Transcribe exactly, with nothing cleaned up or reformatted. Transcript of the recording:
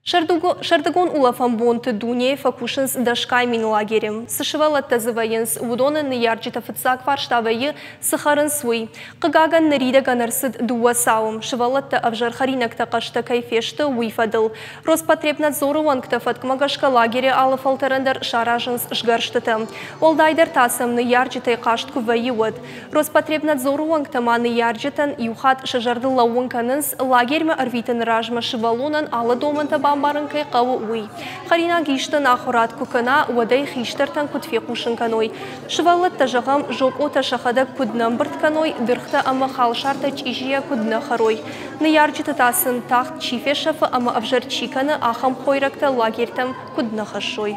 Сӕрдыгон улӕфӕн бонты дунейы фӕкусынц дӕсгай мин лагеры. Цы сывӕллӕттӕ дзы вӕййынц, уыдоны ныййарджыты фыццаг фарста вӕййы, цы хӕрынц, уый. Хъыгагӕн, ныридӕгӕн ӕрцыд дыууӕ цауы, сывӕллӕттӕ ӕвзӕр хӕринӕгтӕ хъӕстӕ кӕй фесты, уый фӕдыл. Роспотребнадзоры уӕнгтӕ фӕткмӕ гӕсгӕ лагеры алы фӕлтӕрӕн дӕр саразынц сгӕрстытӕ. Уӕлдайдӕр та сӕм ныййарджытӕй хъаст куы вӕййы, уӕд. Роспотребнадзоры уӕнгтӕ ма ныййарджытӕн иу хатт сӕ зӕрдыл лӕууын кӕнынц, лагермӕ ӕрвитыны размӕ сывӕллонӕн алы домӕнтӕ бамбарын кӕй хъӕуы, уый. Хӕринаг исты ӕнахуырад куы кӕна, уӕд ӕй хистӕртӕн куыд фехъусын кӕной. Сывӕллӕттӕ, зӕгъӕм, зокъотӕ сӕхӕдӕг куыд нӕ ӕмбырд кӕной, дыргътӕ ӕмӕ халсартӕ чъизийӕ куыд нӕ хӕрой. Ныййарджыты та сын тагъд чи фесӕфы ӕмӕ ӕвзӕр чи кӕны, ахӕм хойрӕгтӕ лагертӕм куыд нӕ хӕссой.